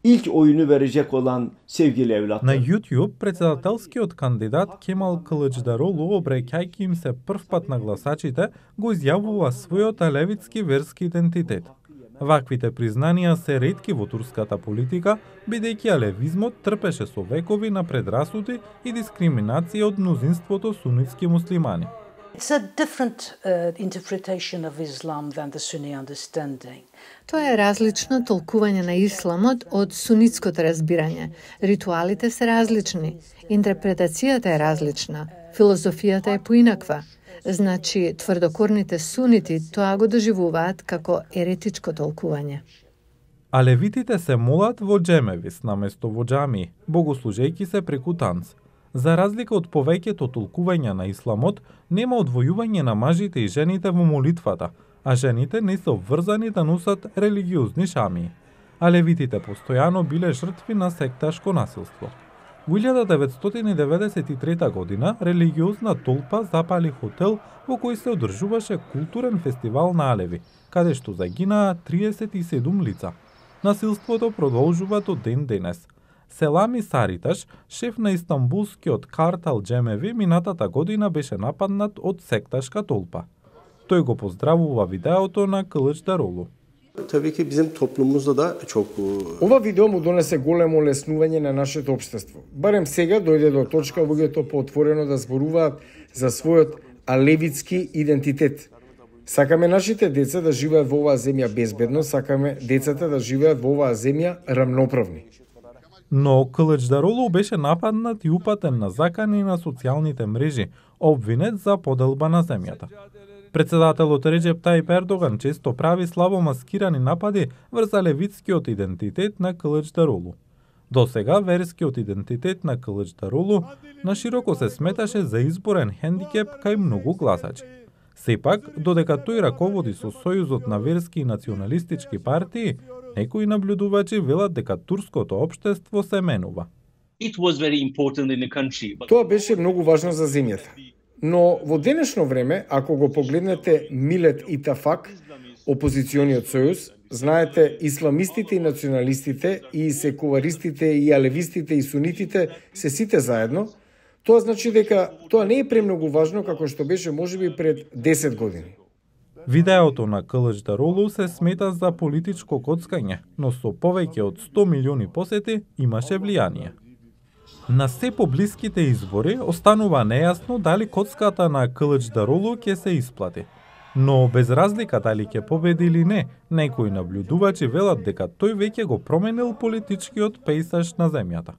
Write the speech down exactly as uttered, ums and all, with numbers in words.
ilk oyunu verecek olan sevgili evlatlar. На YouTube председателскиот кандидат Кемал Кылычдарогlu, обраќајќи им се прв пат на гласачите, го изјавува својот алевитски верски идентитет. Ваквите признанија се ретки во турската политика, бидејќи алевизмот трпеше со векови на предрасуди и дискриминација од мнозинството сунитски муслимани. It's a different uh, interpretation of Islam than the Sunni understanding. Тоа е различно толкување на исламот од сунитското разбирање. Ритуалите се различни, интерпретацијата е различна, филозофијата е поинаква. Значи, тврдокорните сунити тоа го доживуваат како еретичко толкување. Алевитите се молат во джемевис наместо во џамии, богослужејќи се преку танц. За разлика од повеќето толкувања на исламот, нема одвојување на мажите и жените во молитвата, а жените не се обврзани да носат религиозни шамии. Алевитите постојано биле жртви на секташко насилство. Во илјада деветстотини и деветдесет и трета година религиозна толпа запали хотел во кој се одржуваше културен фестивал на алеви, каде што загинаа триесет и седум лица. Насилството продолжува до ден денес. Селами Сариташ, шеф на истанбулскиот картал Джемеви, минатата година беше нападнат од секташка толпа. Тој го поздравува видеото на Кылычдарогlu. Tabii ki bizim toplumumuzda da çok Ова видео му донесе големо олеснување на нашето општество. Барем сега дојде до точка луѓето поотворено да зборуваат за својот алевитски идентитет. Сакаме нашите деца да живеат во оваа земја безбедно, сакаме децата да живеат во оваа земја рамноправни. Но Кылычдарогlu беше нападнат и упатен на закани на социјалните мрежи, обвинет за поделба на земјата. Председателот Реџеп Тајип Ердоган често прави слабо маскирани напади врз алевитскиот идентитет на Кылычдарогlu. Досега верскиот идентитет на Кылычдарогlu нашироко се сметаше за изборен хендикеп кај многу гласачи. Сепак, додека тој раководи со сојузот на верски и националистички партии, некои наблюдувачи велат дека турското општество се менува. Тоа беше многу важно за земјата. Но во денешно време, ако го погледнете Милет Итафак, опозициониот сојуз, знаете, исламистите и националистите, и секуларистите, и алевистите, и сунитите, се сите заедно, тоа значи дека тоа не е премногу важно како што беше можеби пред десет години. Видеото на Кылычдарогlu се смета за политичко коцкање, но со повеќе од сто милиони посети имаше влијание. На се поблиските избори останува нејасно дали коцката на Кылычдарогlu ќе се исплати. Но без разлика дали ќе победи или не, некои наблюдувачи велат дека тој веќе го променил политичкиот пејзаж на земјата.